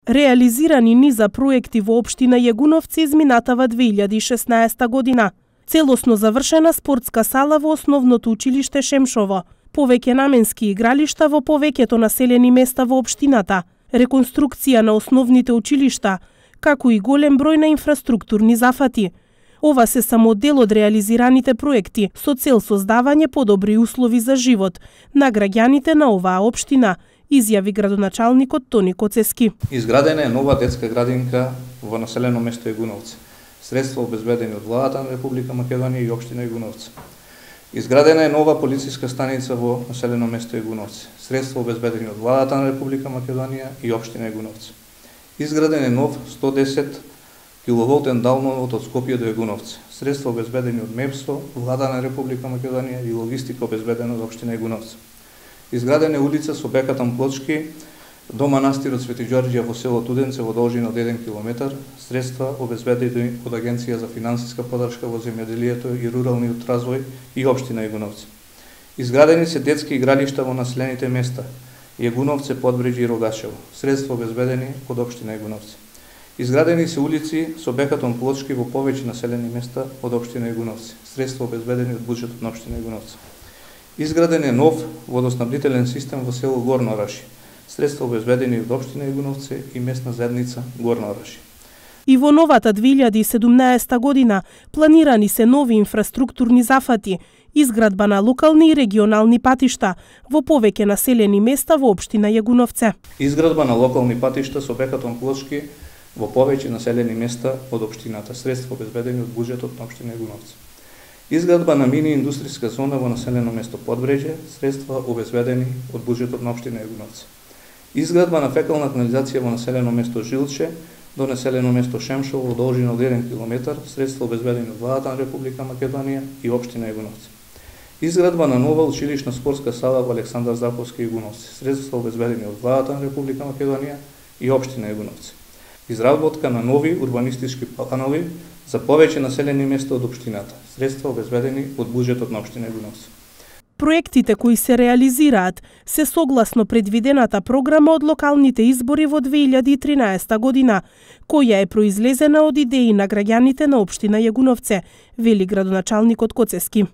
Реализирани низа проекти во општина Јагуновци изминатава 2016 година. Целосно завршена спортска сала во основното училиште Шемшово, повеќе наменски игралишта во повеќето населени места во општината, реконструкција на основните училишта, како и голем број на инфраструктурни зафати. Ова се само дел од реализираните проекти со цел создавање подобри услови за живот на граѓаните на оваа општина, изјави градоначалникот Тони Коцески. Изградена е нова детска градинка во населено место Јагуновци. Средства обезбедени од владата на Република Македонија и општина Јагуновци. Изградена е нова полициска станица во населено место Јагуновци. Средства обезбедени од владата на Република Македонија и општина Јагуновци. Изграден е нов 110 киловолтен далновод од Скопје до Јагуновци. Средства обезбедени од МЕПСО, влада на Република Македонија и логистика обезбедена од општина Јагуновци. Изградена е улица со бекатан плочки до манастирот Свети Ѓорѓе во село Туденце во должина од 1 километар, средства обезбедени од Агенција за финансиска поддршка во земјоделието и руралниот развој и општина Јагуновци. Изградени се детски игралишта во населените места Јагуновци, Подбреџје и Рогачево, средства обезбедени од општина Јагуновци. Изградени се улици со бекатон плочки во повеќе населени места од општина Јагуновци, средства обезбедени од буџетот на општина Јагуновци. Изграден е нов водоснабдителен систем во село Горно Орашје, средства обезбедени од општина Јагуновци и местна заедница Горно Орашје. И во новата 2017 година планирани се нови инфраструктурни зафати, изградба на локални и регионални патишта во повеќе населени места во општина Јагуновци. Изградба на локални патишта со бекатон плочки во повеќе населени места од општината, средства обезбедени од буџетот на општина Јагуновци. Изградба на мини индустријска зона во населено место Подбреџје, средства обезбедени од буџетот на општина Јагуновци. Изградба на фекална канализација во населено место Жилче до населено место Шемшово во должина од 1 километар, средства обезбедени од владата на Република Македонија и општина Јагуновци. Изградба на нова училишна спортска сала во Александар Заковски Јагуновци, средства обезбедени од владата на Република Македонија и општина Јагуновци. Изработка на нови урбанистички планови за повеќе населени места од општината, средства обезбедени од буџетот на општина Јагуновци. Проектите кои се реализираат се согласно предвидената програма од локалните избори во 2013 година, која е произлезена од идеи на граѓаните на општина Јагуновци, вели градоначалникот Коцески.